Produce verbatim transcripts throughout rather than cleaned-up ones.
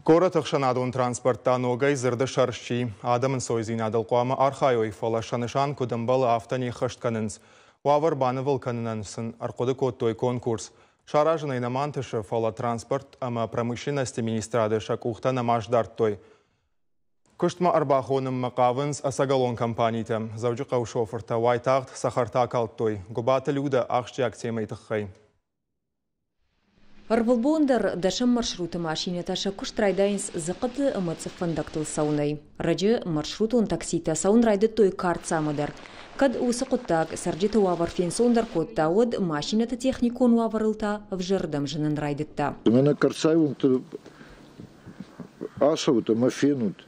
Горӕты ӕхсӕнадон транспорт та ногӕй дзырды сӕр сси. Адӕмы ӕнцойдзинадыл хъуамӕ архайой, фӕлӕ сӕ нысан куыд ӕмбӕлы, афтӕ не ххӕст кӕнынц. Уавӕр банывыл кӕнынӕн сын ӕрхъуыды кодтой конкурс. Саразын ӕй нӕма ӕнтысы, фӕлӕ транспорт ӕмӕ промышленности министрады сӕ къухтӕ нӕма сдардтой. Куыстмӕ ӕрбахонынмӕ хъавынц ӕцӕгӕлон компанитӕ. Дзӕуджыхъӕуы шофыртӕ уайтагъд цӕхӕртӕ акалдтой. Гуыбаты Людӕ ахсджиаг темӕйы тыххӕй. Ӕрвылбон дӕр дӕсӕм маршруты машинӕтӕ сӕ куыст райдайынц дзыхъыты ӕмӕ цъыфвӕндӕгтыл цӕуынӕй. Раджы маршрутон такситӕ цӕуын райдыдтой Карцамӕ дӕр. Кӕд уыцы хъуыддаг цӕрджыты уавӕр фенцондӕр кодта, уӕд машинӕты техникон уавӕрыл та ӕвзӕрырдӕм зынын райдыдта. Мӕнӕ Карцайы уынгты ацӕут ӕмӕ фенут,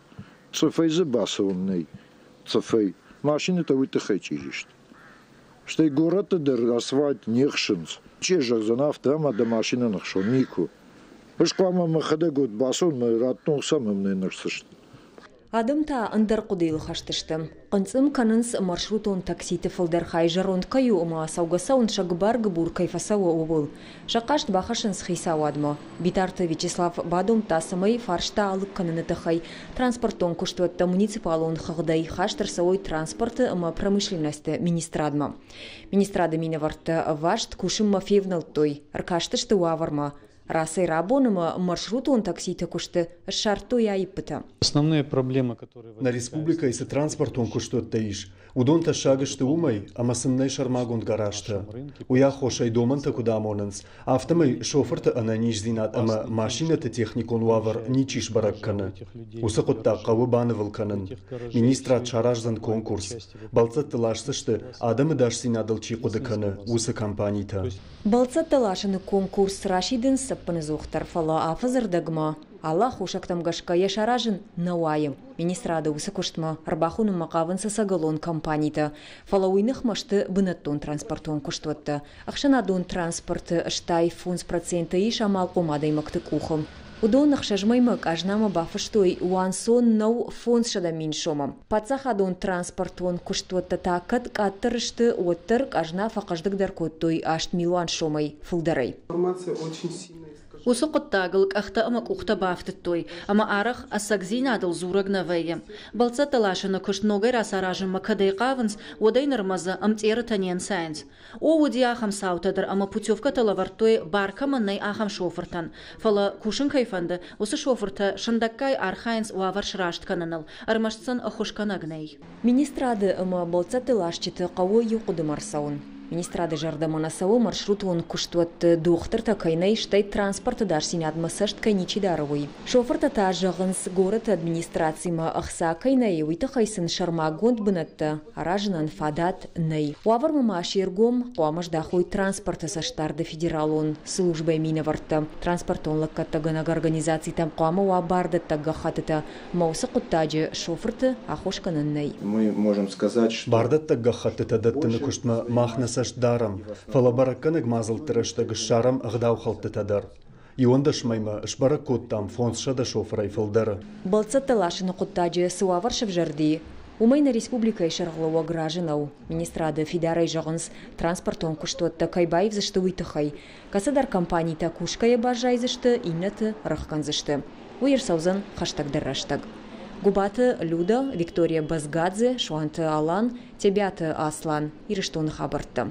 цъыфӕй дзы бацӕуӕн нӕй, цъыфӕй. Машинӕтӕ уый тыххӕй чъизи сты. Стӕй горӕтты дӕр асфальт не хсынц. Чи зӕгъдзӕн афтӕ, ӕмӕ дӕ машинӕ ныхсон? Никуы. Ӕз хъуамӕ мӕхӕдӕг уӕд бацӕуон, мӕ радтон хца мӕм нӕ ныхсдзысты. Адӕм та ӕндӕр хъуыдыйыл хӕст сты. Хъынцъым кӕнынц маршрутон такситы фылдӕр хай зӕронд кӕй у ӕмӕ цӕугӕ-цӕуын сӕ гыбар-гыбур кӕй фӕцӕуы, ууыл. Сӕ хъаст бахӕссынц хицауадмӕ. Битарты Вячеслав бадомдта, цӕмӕй фарста алыг кӕныны тыххӕй транспортон куыстуӕттӕ муниципалон хыгъдӕй хаст ӕрцӕуой транспорты ӕмӕ промышленносты министрадмӕ. Министрады минӕвӕрттӕ ӕваст кусынмӕ февнӕлдтой, ӕркастысты уавӕрмӕ. Рацӕй рабон ӕмӕ маршрутон такситы куысты ссардтой аиппытӕ. Основные проблемы, которые Нӕ республикӕйы цы транспортон куыстуӕттӕ ис, уыдон тӕссаг сты уымӕй, ӕмӕ сын нӕй сӕрмагонд гаражтӕ. Уый аххосӕй домӕнтӕ куыд амонынц, афтӕмӕй шофырты ӕнӕниздзинад ӕмӕ машинӕты техникон уавӕр ничи сбӕрӕг кӕны. Уыцы хъуыддаг хъӕуы банывыл кӕнын. Министрад сараздзӕн конкурс. Бӕлццӕтты ласдзысты, адӕмы ӕдасдзинадыл чи хъуыды кӕны, уыцы компанитӕ. Бӕлццӕттӕ ласыны конкурс расидынц ӕппынӕдзухдӕр, фӕлӕ афӕдзы рдӕгмӕ алы аххосӕгтӕм гӕсгӕ йӕ саразын нӕ уайы. Министрады уыцы куыстмӕ ӕрбахонынмӕ хъавынц ӕцӕгӕлон компанитӕ, фӕлӕ уый ныхмӕ сты бынӕттон транспортон куыстуӕттӕ. Ӕхсӕнадон транспорты стай фондз проценты ис амалхъом адӕймӕгты къухы. Уыдон ӕхсӕз мӕймӕ къазнамӕ бафыстой уанцон нӕу фондзсӕдӕ мин сомы. Паддзахадон транспортон куыстуӕттӕ та кӕд къаддӕр сты, уӕддӕр къазна фӕхъӕздыгдӕр кодтой аст милуан сомӕй фылдӕрӕй. Уыцы хъуыддагыл къӕхтӕ ӕмӕ къухтӕ бафтыдтой, ӕмӕ арӕх ӕцӕгдзинадыл дзурӕг нӕ вӕййы. Бӕлццӕттӕ ласыны куыст ногӕй рацаразынмӕ кӕдӕй хъавынц, уӕдӕй нырмӕ дзы ӕмтъерытӕ не нцайынц. О, уыди ахӕм цаутӕ дӕр ӕмӕ путевкӕтӕ лӕвӕрдтой, бар кӕмӕн нӕй, ахӕм шофыртӕн. Фӕлӕ кусын кӕй фӕнды, уыцы шофыртӕ сындӕггай архайынц уавӕр сраст кӕныныл, ӕрмӕст сын ӕххуысгӕнӕг нӕй. Министрады ӕмӕ бӕлццӕтты ласджыты хъӕуы иу хъуыдымӕ ӕрцӕуын. Министрады зӕрдӕмӕ нӕ цӕуы маршрутон куыстуӕтты дохтыртӕ кӕй нӕй, стӕй транспорты ӕдасдзинадмӕ цӕст кӕй ничи дары, уый. Шофыртӕ та зӕгъынц, горӕты администрацимӕ ӕхца кӕй нӕй, уый тыххӕй сын сӕрмагонд бынӕттӕ аразынӕн фадат нӕй. Уавӕрмӕ ма се ргом хъуамӕ здахой транспорты цӕстдарды федералон службӕйы минӕвӕрттӕ. Транспортон лӕггӕдтӕгӕнӕг организацитӕм хъуамӕ уа бардӕттӕг гӕххӕттытӕ, ӕмӕ уыцы хъуыддаджы шофырты аххос кӕнӕн нӕй. Мы можем сказать, что Бардӕттӕг гӕххӕттытӕ дӕттыны куыстмӕ мах нӕ цӕст дарӕм, фӕлӕ бӕрӕггӕнӕг мадзӕлтты рӕстӕг ссарӕм ӕгъдаухӕлдтытӕ дӕр. Иуӕндӕс мӕймӕ сбӕрӕг кодтам фондзсӕдӕ шофырӕй фылдӕры. Бӕлццӕттӕ ласыны хъуыддаджы цы уавӕр сӕвзӕрди, уымӕй нӕ республикӕйы сӕргълӕууӕг разы нӕу. Министрады фидарӕй зӕгъынц, транспортон куыстуӕттӕ кӕй баивдзысты, уый тыххӕй. Кӕцыдӕр компанитӕ кусгӕйӕ баззайдзысты, иннӕты рахгӕндзысты. Уый ӕрцӕудзӕн хӕстӕгдӕр рӕстӕг. Гуыбаты Люда, Виктория Базгадзе, Суанты Алан, Тебиаты Аслан, Ирыстоны хабӕрттӕ.